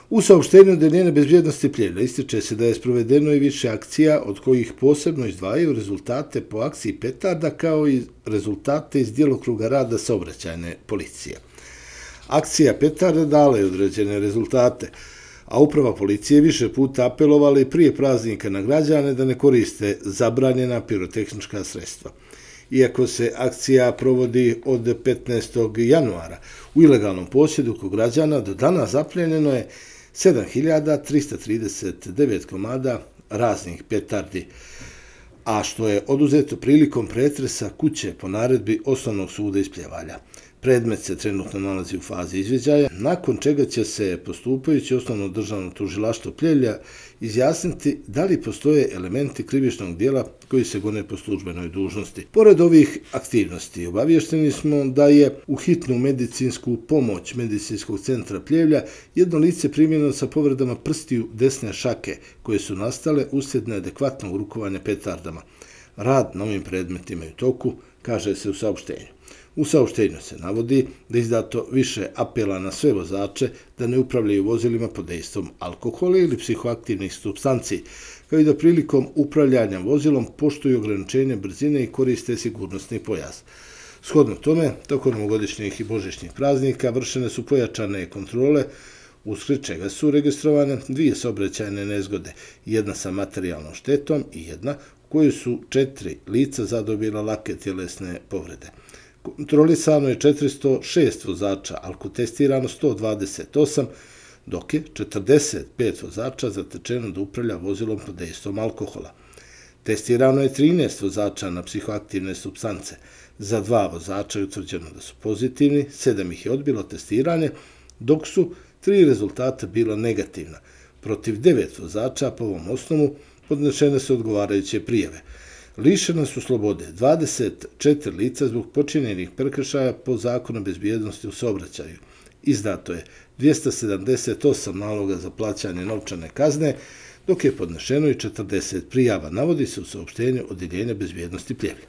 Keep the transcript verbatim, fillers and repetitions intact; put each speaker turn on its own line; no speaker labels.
U saopštenju Odeljenja bezbjednosti Pljevlja ističe se da je sprovedeno i više akcija, od kojih posebno izdvajaju rezultate po akciji Petarda kao i rezultate iz djelokruga rada saobraćajne policije. Akcija Petarda dala je određene rezultate, a uprava policije više puta apelovala i prije praznika na građane da ne koriste zabranjena pirotehnička sredstva. Iako se akcija provodi od petnaestog januara, u ilegalnom posjedu kod građana do danas zapljenjeno je sedam hiljada trista trideset devet komada raznih petardi, a što je oduzeto prilikom pretresa kuće po naredbi Osnovnog suda iz Pljevalja. Predmet se trenutno nalazi u fazi izviđaja, nakon čega će se postupajući Osnovno državno tužilaštvo Pljevlja izjasniti da li postoje elementi krivičnog dijela koji se gone po službenoj dužnosti. Pored ovih aktivnosti, obavješteni smo da je u hitnu medicinsku pomoć Medicinskog centra Pljevlja jedno lice primljeno sa povredama prstiju desne šake, koje su nastale uslijed neadekvatnog rukovanja petardama. Rad na ovim predmetima je u toku, kaže se u saopštenju. U saopštenju se navodi da je izdato više apela na sve vozače da ne upravljaju vozilima pod dejstvom alkohola ili psihoaktivnih supstanci, kao i da prilikom upravljanja vozilom poštuju ograničenje brzine i koriste sigurnosni pojas. Shodno tome, tokom novogodišnjih i božićnih praznika vršene su pojačane kontrole, usled čega su registrovane dvije saobraćajne nezgode, jedna sa materijalnom štetom i jedna u kojoj su četiri lica zadobila lake tjelesne povrede. Kontrolisano je četiristo šest vozača, alkotestirano sto dvadeset osam, dok je četrdeset pet vozača zatečeno da upravlja vozilom pod dejstvom alkohola. Testirano je trinaest vozača na psihoaktivne supstance. Za dva vozača je utvrđeno da su pozitivni, sedam ih je odbilo testiranje, dok su tri rezultata bila negativna. Protiv devet vozača po ovom osnovu podnešene su odgovarajuće prijave. Lišena su slobode dvadeset četiri lica zbog počinjenih prekršaja po zakonu o bezbjednosti u saobraćaju. Izdato je dvjesto sedamdeset osam naloga za plaćanje novčane kazne, dok je podnešeno i četrdeset prijava, navodi se u saopštenju Odeljenja bezbjednosti Pljevlja.